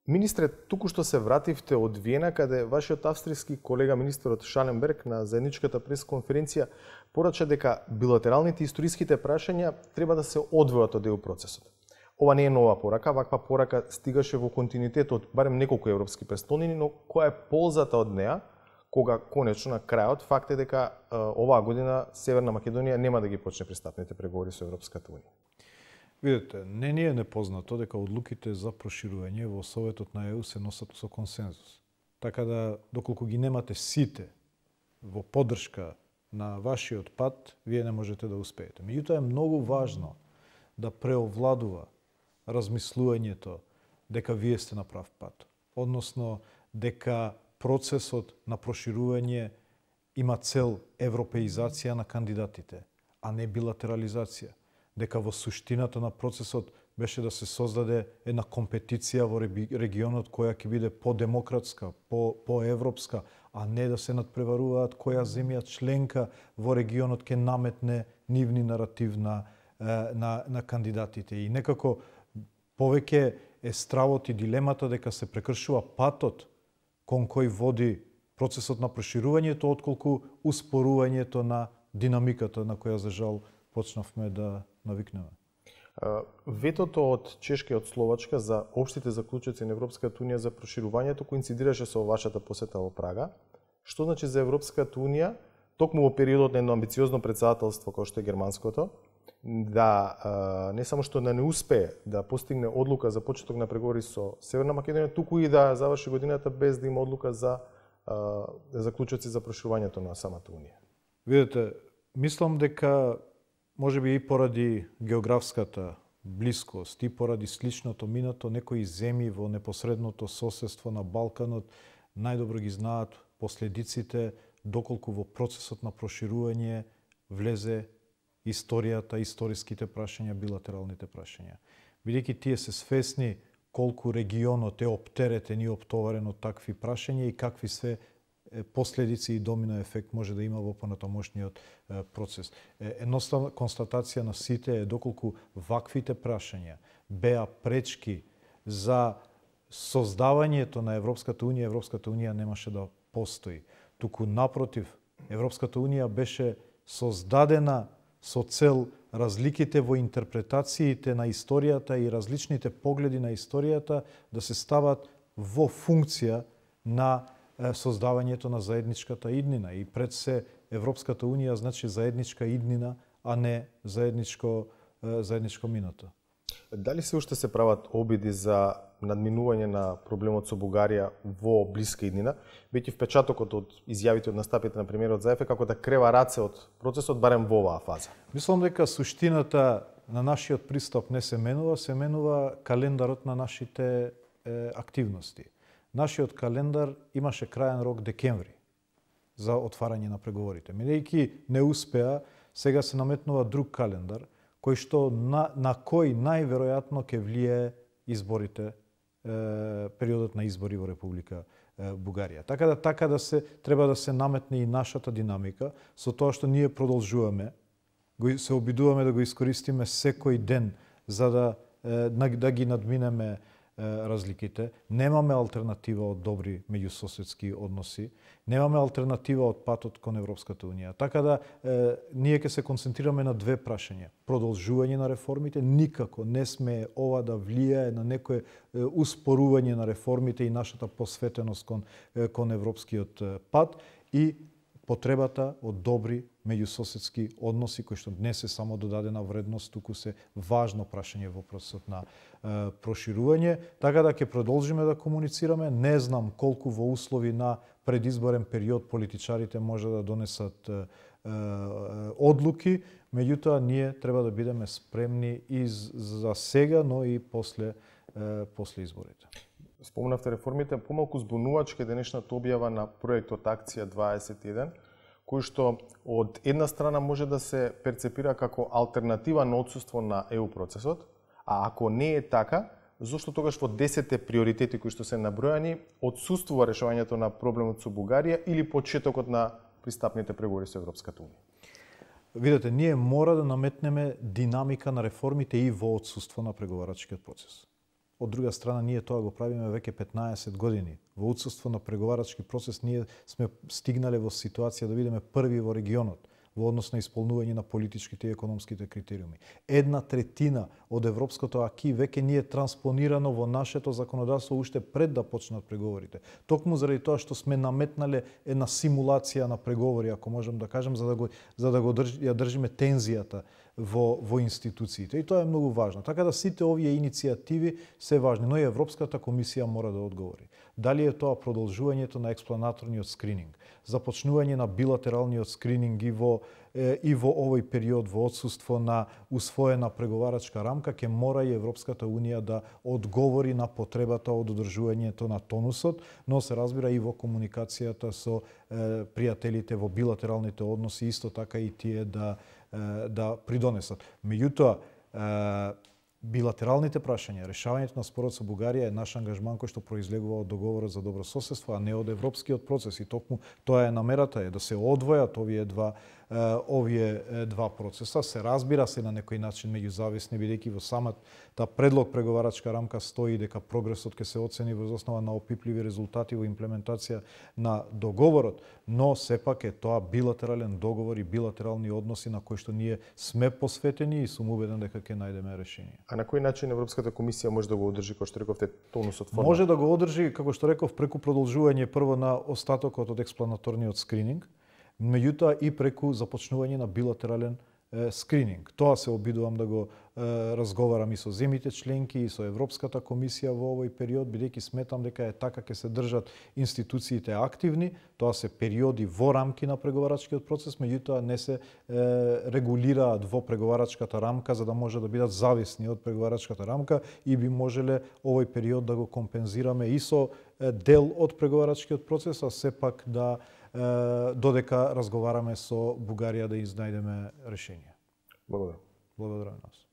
Министре, туку што се вративте од Виена, каде вашиот австријски колега министерот Шаленберг на заедничката пресконференција порача дека билатералните историските прашања треба да се одвојат од ЕУ процесот. Ова не е нова порака, ваква порака стигаше во континуитет од барем неколку европски престолнини, но која е ползата од неа, кога конечно на крајот факт е дека оваа година Северна Македонија нема да ги почне пристапните преговори со Европската унија. Видете, не ни е непознато дека одлуките за проширување во Советот на ЕУ се носат со консензус. Така да, доколку ги немате сите во поддршка на вашиот пат, вие не можете да успеете. Меѓутоа е многу важно да преовладува размислувањето дека вие сте на прав пат. Односно, дека процесот на проширување има цел европеизација на кандидатите, а не билатерализација. Дека во суштината на процесот беше да се создаде една компетиција во регионот која ќе биде по-демократска, по-европска, а не да се надпреваруваат која земја членка во регионот ќе наметне нивни наратив на кандидатите. И некако повеќе е стравот и дилемата дека се прекршува патот кон кој води процесот на проширувањето, отколку успорувањето на динамиката на која за жал почнавме да навикнеме. Ветото од Чешка и од Словачка за општите заклучоци на Европската унија за проширувањето коинцидираше со вашата посета во Прага. Што значи за Европската унија, токму во периодот на едно амбициозно председателство како што е германското, да не само што да не успее да постигне одлука за почеток на преговори со Северна Македонија, туку и да заврши годината без да има одлука за заклучоци за проширувањето на самата унија? Видете, мислам дека можеби и поради географската блискост и поради сличното минато, некои земји во непосредното соседство на Балканот најдобро ги знаат последиците доколку во процесот на проширување влезе историјата, историските прашања, билатералните прашања. Бидејќи тие се свесни колку регионот е оптеретен и оптоварен од такви прашања и какви се последици и домино ефект може да има во понатамошниот процес. Едноставна констатација на сите е доколку ваквите прашања беа пречки за создавањето на Европската унија немаше да постои. Туку напротив, Европската унија беше создадена со цел разликите во интерпретациите на историјата и различните погледи на историјата да се стават во функција на создавањето на заедничката иднина. И пред се Европската унија значи заедничка иднина, а не заедничко минато. Дали се уште се прават обиди за надминување на проблемот со Бугарија во блиска иднина, веќе впечатокот од изјавите од настапите на премиерот Заев е како да крева раце од процесот барем во оваа фаза? Мислам дека суштината на нашиот пристап не се менува календарот на нашите активности. Нашиот календар имаше крајен рок декември за отварање на преговорите. Бидејќи не успеа, сега се наметнува друг календар, кој што на кој најверојатно ќе влие изборите, периодот на избори во Република Бугарија. Така да се треба да се наметне и нашата динамика со тоа што ние продолжуваме, се обидуваме да го искористиме секој ден за да ги надминеме разликите. Немаме алтернатива од добри меѓусоседски односи, немаме алтернатива од патот кон Европската унија. Така да ние ќе се концентрираме на две прашања. Продолжување на реформите, никако не сме ова да влијае на некое успорување на реформите и нашата посветеност кон европскиот пат и потребата од добри меѓусоседски односи, кои што не се само додадена вредност, туку се важно прашање во процесот на проширување. Така да ќе продолжиме да комуницираме. Не знам колку во услови на предизборен период политичарите може да донесат одлуки, меѓутоа ние треба да бидеме спремни и за сега, но и после изборите. Спомнавте реформите, помалку збунувачка денешната објава на проектот Акција 21, кој што од една страна може да се перцепира како алтернатива на отсуство на ЕУ процесот, а ако не е така, зошто тогаш во 10 приоритети кои што се набројани отсуствува решавањето на проблемот со Бугарија или почетокот на пристапните преговори со Европската унија? Видете, ние мора да наметнеме динамика на реформите и во отсуство на преговарачкиот процес. од друга страна ние тоа го правиме веќе 15 години. Во отсуство на преговарачки процес ние сме стигнале во ситуација да бидеме први во регионот во однос на исполнување на политичките и економските критериуми. 1/3 од европското аки веќе ние транспонирано во нашето законодавство уште пред да почнат преговорите. Токму заради тоа што сме наметнале една симулација на преговори, ако можам да кажам, за да ја држиме тензијата во институциите. И тоа е многу важно. Така да сите овие иницијативи се важни, но и Европската комисија мора да одговори. Дали е тоа продолжувањето на експланаторниот скрининг, започнување на билатералниот скрининг и во овој период во отсуство на усвоена преговарачка рамка, ќе мора и Европската унија да одговори на потребата од одржувањето на тонусот, но се разбира и во комуникацијата со пријателите во билатералните односи, исто така и тие да придонесат. Меѓутоа, билатералните прашања, решавањето на спорот со Бугарија е наш ангажман кој што произлегува од договорот за добрососедство, а не од европскиот процес. И токму тоа е намерата, да се одвојат овие два процеса. Се разбира се на некој начин меѓузависни, бидејќи во самата предлог преговарачка рамка стои дека прогресот ќе се оцени врз основа на опипливи резултати во имплементација на договорот, но сепак е тоа билатерален договор и билатерални односи на кои што ние сме посветени и сум убеден дека ќе најдеме решение. А на кој начин Европската комисија може да го одржи, како што рековте, тонусот форма? Може да го одржи, како што реков, преку продолжување прво на остатокот од експланаторниот скрининг, меѓутоа и преку започнување на билатерален скрининг. Тоа се обидувам да го разговарам и со земјите членки и со Европската комисија во овој период, бидејќи сметам дека е така ќе се држат институциите активни. Тоа се периоди во рамки на преговарачкиот процес, меѓутоа не се регулираат во преговарачката рамка за да може да бидат зависни од преговарачката рамка и би можеле овој период да го компензираме и со дел од преговарачкиот процес, а сепак додека разговараме со Бугарија да изнајдеме решение. Благодарам. Благодарам нас.